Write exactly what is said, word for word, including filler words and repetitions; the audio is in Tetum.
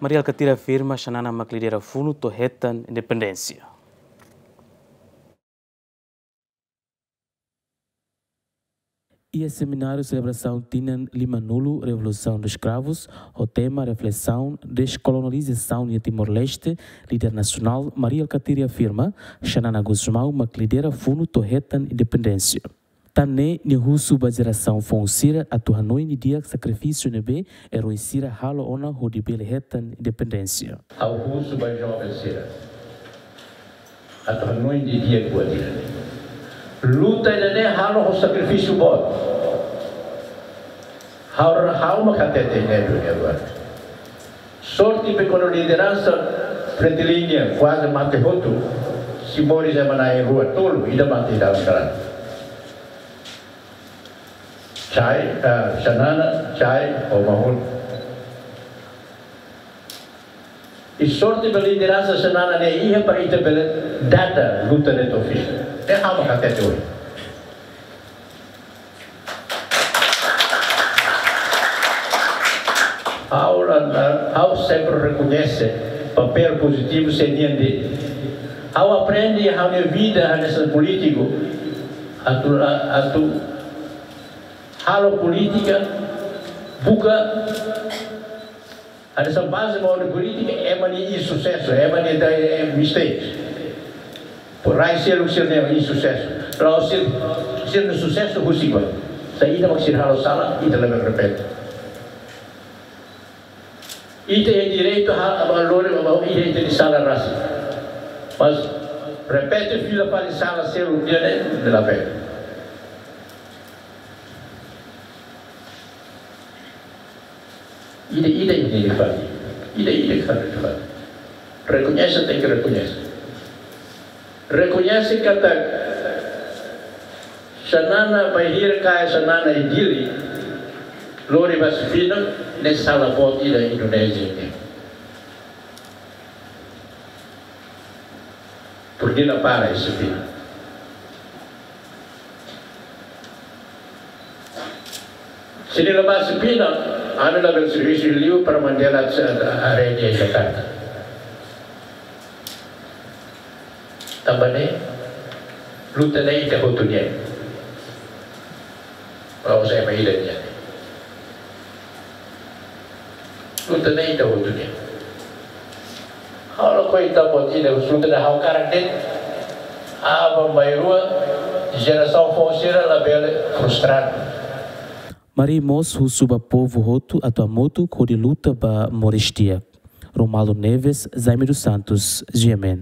Mari Alkatiri afirma Xanana mak lidera funu to'o hetan independénsia. Iha semináriu selebrasaun tinan lima-nulu Revolução dos Cravos, ho tema Reflesaun Deskolonizasaun iha Timor-Leste, líder nasionál Mari Alkatiri afirma Xanana Gusmão mak lidera funu to'o hetan independénsia. Tan ne'e nia husu ba jerasaun foun sira atu hanoin didi'ak sakrifísiu ne'ebé eroi sira halo ona hodi bele hetan independénsia. Ha'u husu ba joven sira atu hanoin didi'ak buat ida-ne'e. Luta ida-ne'e halo ho sakrifísiu boot. Ha'u, ha'u mak hatete ne'e duni agora. Sorte be kuandu lideransa Fretilin nian kuaze mate hotu, simbóliku ema na'in-rua, tolu, ida mate iha dalan garada. Chai, ah, Xanana, Chai, ho Mahut. I sorte be lideransa Xanana ne'e iha para ita bele dada luta ne'e to'o fin. Ne'e ha'u mak hatete ohin. Ha'u la, la, ha'u sempre rekoñese papél pozitivu C N D. Ha'u aprende iha ha'u-nia vida hanesan polítiku atu, atu halo polítika, buka hanesan baze ba ha'u-nia polítika, ema nia insusesu, ema nia, eh, mistakes. Por rai selu sira-nia insusesu. La'ós sira, sira-nia susesu husik ba. Se ita mak sira halo sala, ita labele repete. Ita iha direitu halo, halo, halo, ita, ita-nia sala rasik. Mas repete fila fali sala seluk ida-ne'e, labele. Ida-ida ita tenke fahe. Ida-ida ita tenke fahe. Rekoñese, tenke rekoñese. Rekoñese katak Xanana, bainhira kaer Xanana iha Dili, lori ba Sefina, ne'e sala boot ida Indonézia nian. Por que la para iha Sefina? Se nia la ba Sefina, ami labele servisu liu para Mandela Arena iha Jakarta. Tanba ne'e, luta ne'e ita hotu nian. Ha'u sai mai ida nian. Luta ne'e ita hotu nian. Ha'u lakohi ita buat ida, luta ne'e ha'u hakarak de'it. Aban-bainrua, jerasaun foun sira labele frustradu. Mari mós husu ba povu hotu atu hamutuk hodi luta ba moris di'ak. Romualdo Neves, Jaime dos Santos, G M N.